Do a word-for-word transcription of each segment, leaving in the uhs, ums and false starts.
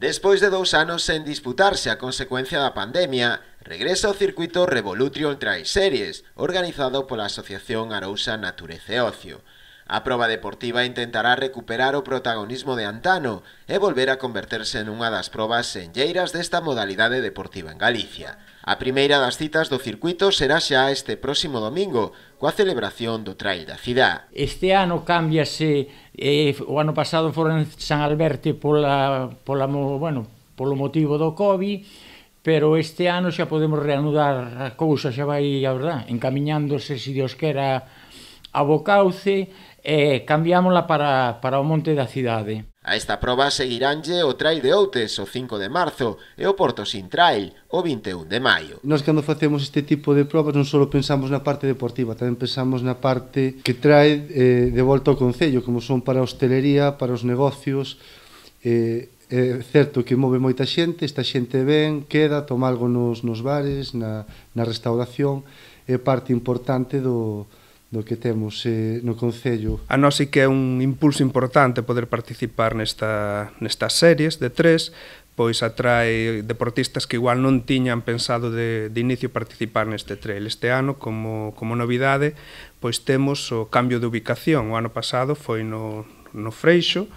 Despois de dous anos sen disputarse a consecuencia da pandemia, regresa o circuito Revolution Trail Series, organizado pola Asociación Arousa Natureza e Ocio. A proba deportiva intentará recuperar o protagonismo de antano e volver a converterse nunha das probas senlleiras desta modalidade deportiva en Galicia. A primeira das citas do circuito será xa este próximo domingo, coa celebración do Trail da Cidade. Este ano cámbiase, eh, o ano pasado foron en San Alberto pola, pola, bueno, polo motivo do COVID, pero este ano xa podemos reanudar a cousa, xa vai, a verdad, encamiñándose, se Dios quera, a bo cauce, e cambiámola para, para o Monte da Cidade. A esta proba seguiránlle o Trail de Outes o cinco de marzo e o Portosín Trail o vinte e un de maio. Nós cando facemos este tipo de probas non só pensamos na parte deportiva, tamén pensamos na parte que trae eh, de volta ao concello, como son para a hostelería, para os negocios. Eh, é certo que move moita xente, esta xente ven, queda, toma algo nos, nos bares, na, na restauración, é parte importante do do que temos eh, no concello. A nós sí que é un impulso importante poder participar nesta, nestas series de tres, pois atrae deportistas que igual non tiñan pensado de, de inicio participar neste trail. Este ano, como, como novidade, pois temos o cambio de ubicación. O ano pasado foi no, no Freixo,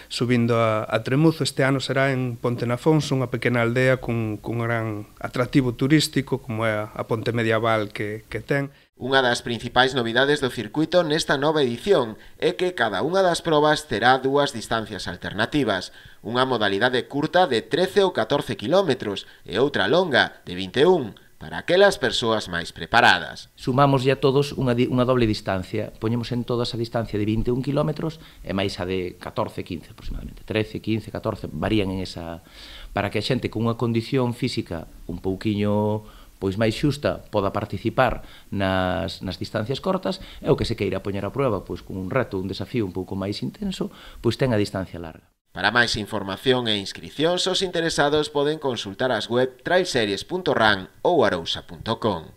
subindo a, a Tremuzo. Este ano será en Ponte Nafonso, unha pequena aldea cun, cun gran atractivo turístico, como é a, a ponte medieval que, que ten. Unha das principais novidades do circuito nesta nova edición é que cada unha das probas terá dúas distancias alternativas, unha modalidade curta de trece ou catorce quilómetros e outra longa de vinte e un, para aquelas persoas máis preparadas. Sumamos ya todos unha, unha doble distancia, poñemos en todas a distancia de vinte e un quilómetros e máis a de catorce, quince aproximadamente, trece, quince, catorce, varían en esa, para que a xente con unha condición física un pouquiño pois máis xusta poda participar nas, nas distancias cortas, e o que se queira poñer a prueba pois con un reto, un desafío un pouco máis intenso, pois ten a distancia larga. Para máis información e inscricións, os interesados poden consultar as web trailseries punto ran ou arousa punto com.